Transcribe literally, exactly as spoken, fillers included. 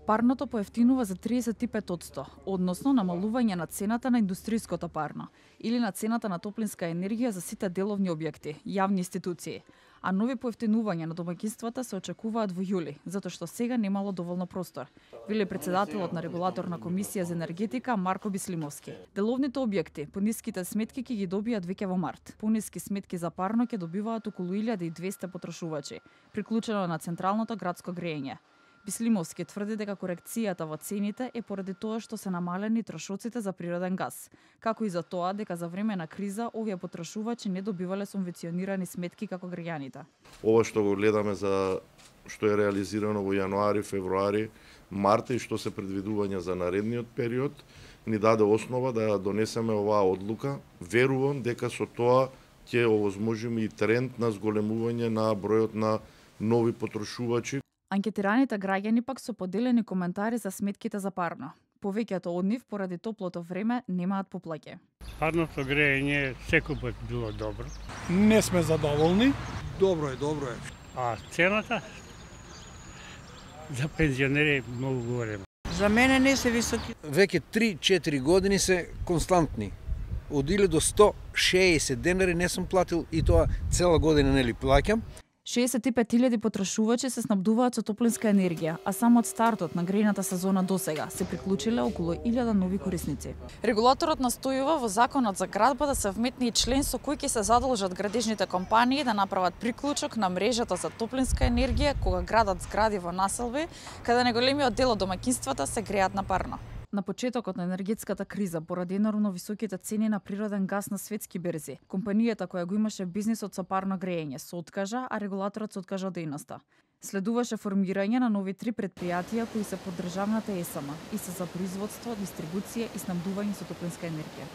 Парното поевтинува за триесет и пет одсто, односно намалување на цената на индустријското парно или на цената на топлинска енергија за сите деловни објекти, јавни институции. А нови поевтинувања на домаќинствата се очекуваат во јули, затоа што сега немало доволно простор, вели председателот на регулаторна комисија за енергетика Марко Бислимовски. Деловните објекти по ниските сметки ќе ги добијат веќе во март. Пониски сметки за парно ќе добиваат околу илјада и двесте потрошувачи, приклучено на централното градско грејење. Бислимовски тврди дека корекцијата во цените е поради тоа што се намалени трошоците за природен газ, како и за тоа дека за време на криза овие потрошувачи не добивале субвенционирани сметки како граѓаните. Ова што го гледаме за што е реализирано во јануари, февруари, март и што се предвидувања за наредниот период, ни даде основа да донесеме оваа одлука. Верувам дека со тоа ќе овозможиме и тренд на зголемување на бројот на нови потрошувачи. Анкетираните граѓани пак со поделени коментари за сметките за парно. Повеќето од нив поради топлото време немаат поплаќе. Парното грејење секој пат било добро. Не сме задоволни. Добро е, добро е. А цената за пензионери е многу голема. За мене не се високи. Веќе три-четири години се константни. Од илјада до сто шеесет денари не сум платил и тоа цела година нели плаќам. шеесет и пет илјади потрошувачи се снабдуваат со топлинска енергија, а само од стартот на грејната сезона досега се приклучиле околу илјада нови корисници. Регулаторот настојува во законот за градба да се вметне и член со кој ќе се задолжат градежните компании да направат приклучок на мрежата за топлинска енергија кога градат згради во населби, каде најголемиот дел од домаќинствата се греат на парно. На почетокот на енергетската криза, поради енормно високите цени на природен газ на светски берзи, компанијата која го имаше бизнисот со парно грејење се откажа, а регулаторот се откажа од дејноста. Следуваше формирање на нови три претпријатија кои се под државната ЕСМ и се за производство, дистрибуција и снабдување со топлинска енергија.